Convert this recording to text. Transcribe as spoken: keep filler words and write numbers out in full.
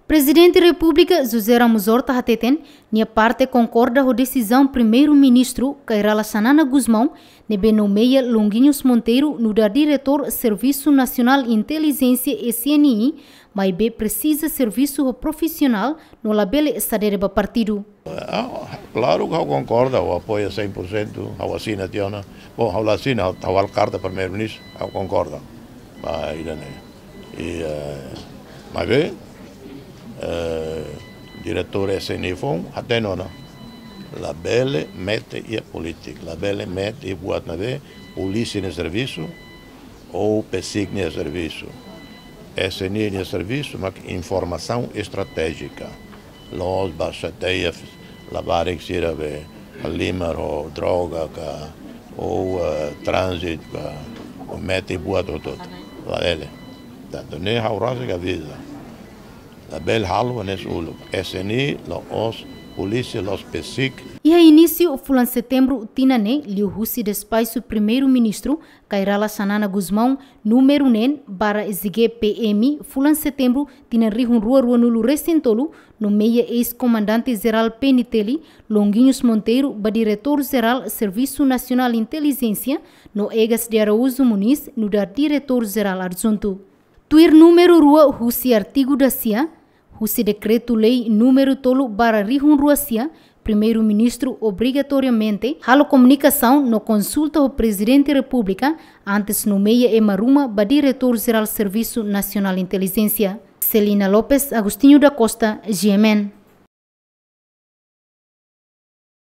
Prezidente Repúblika José Ramos Horta hateten, nia parte konkorda ho desizaun Primeiru-Ministru Kay Rala Xanana Gusmão ne'ebé nomeia Longuinhos Monteiro nu'udar Diretór Servisu Nasionál Intelijénsia S N I, maibé presiza servisu ho profisionál no labele sadere ba partidu. Ah, klaru ke ha'u konkorda, ha'u apoia cem por cento, ha'u asina tiha ona. Bom, ha'u la asina, ha'u, ha'u halo karta Primeiru-Ministru, ha'u konkorda. Ba ida-ne'e. I, eh, maibé, eh, diretór S N I foun hatene ona. Labele mete iha polítika, labele mete iha buat ne'ebé polísia nia servisu, ou PCIC nia servisu. S N I nia servisu mak informasaun estratéjika. La'ós ba xateia labarik sira be halimar ho droga ka, ou, eh, tránzitu ka, ou mete buat hotu-hotu. Labele. Tantu ne'e ha'u rasik avisa. Labele halo hanesan uluk. S N I la'ós polísia, la'ós PCIC. Iha inísiu fulan Setembru tinan ne'e, liuhusi despaxu Primeiru-Ministru Kay Rala Xanana Gusmão, númeru neen barra S G P M, fulan Setembru tinan rihun rua rua-nulu resin tolu, nomeia eis-komandante jerál P N T L, Longuinhos Monteiro, ba Diretór Jerál Servisu Nasionál Intelijénsia, no Egas de Araújo Moniz nu'udar Diretór Jerál Adjuntu. Tuir númeru rua husi artigu dasia, husi Dekretu-Lei númeru tolu barra rihun rua sia, Primeiru-Ministru obrigatoriamente halo komunikasaun no konsulta ho Prezidente Repúblika antes nomeia ema ruma ba Diretór Jerál Servisu Nasionál Intelijénsia. Celina Lopes, Agostinho da Costa, G M N.